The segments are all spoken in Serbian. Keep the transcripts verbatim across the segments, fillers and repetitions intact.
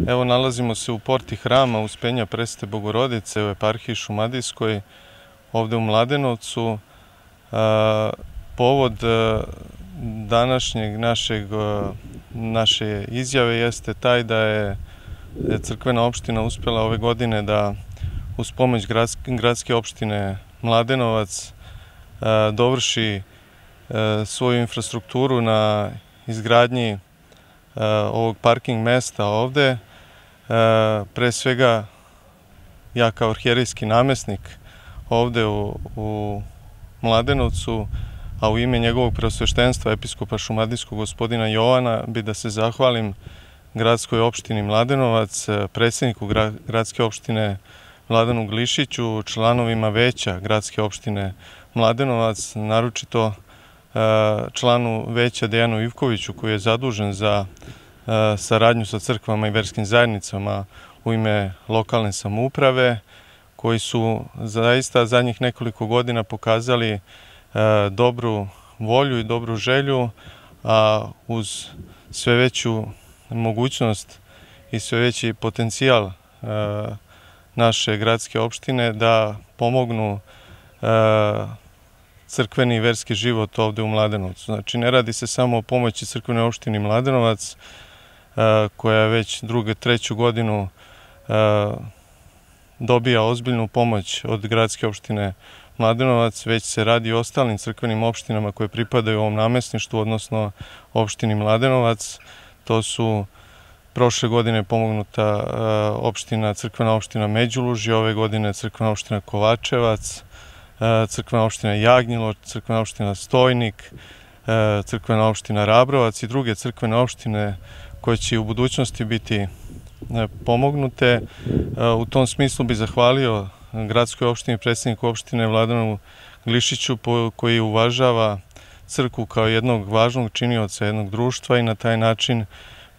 Evo, nalazimo se u porti hrama Uspenja Presvete Bogorodice u eparhiji Šumadijskoj, ovde u Mladenovcu. Povod današnjeg našeg, naše izjave jeste taj da je crkvena opština uspjela ove godine da uz pomoć gradske opštine Mladenovac dovrši svoju infrastrukturu na izgradnji ovog parking mesta ovde. Pre svega, ja kao arhijerejski namesnik ovde u Mladenovcu, a u ime njegovog preosveštenstva episkopa Šumadijskog gospodina Jovana, bi da se zahvalim gradskoj opštini Mladenovac, predsjedniku gradske opštine Vladanu Glišiću, članovima veća gradske opštine Mladenovac, naročito članu veća Dejanu Ivkoviću, koji je zadužen za saradnju sa crkvama i verskim zajednicama u ime lokalne samouprave, koji su zaista zadnjih nekoliko godina pokazali dobru volju i dobru želju, a uz sve veću mogućnost i sve veći potencijal naše gradske opštine da pomognu crkveni i verski život ovde u Mladenovcu. Znači, ne radi se samo o pomoći crkvenoj opštini Mladenovac, koja već drugu, treću godinu dobija ozbiljnu pomoć od gradske opštine Mladenovac, već se radi o ostalim crkvenim opštinama koje pripadaju ovom namesništvu, odnosno opštini Mladenovac. To su prošle godine pomognuta opština, crkvena opština Međulužje, ove godine crkvena opština Kovačevac, crkvena opština Jagnjilo, crkvena opština Stojnik, crkvena opština Rabrovac i druge crkvene opštine koje će u budućnosti biti pomognute. U tom smislu bih zahvalio gradskoj opštini, predsjedniku opštine Vladanu Glišiću, koji uvažava crkvu kao jednog važnog činioca jednog društva i na taj način,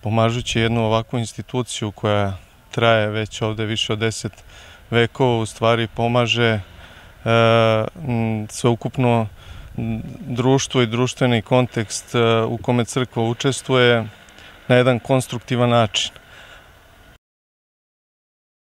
pomažući jednu ovakvu instituciju koja traje već ovde više od deset vekova, u stvari pomaže sveukupno društvo i društveni kontekst u kome crkva učestvuje na jedan konstruktivan način.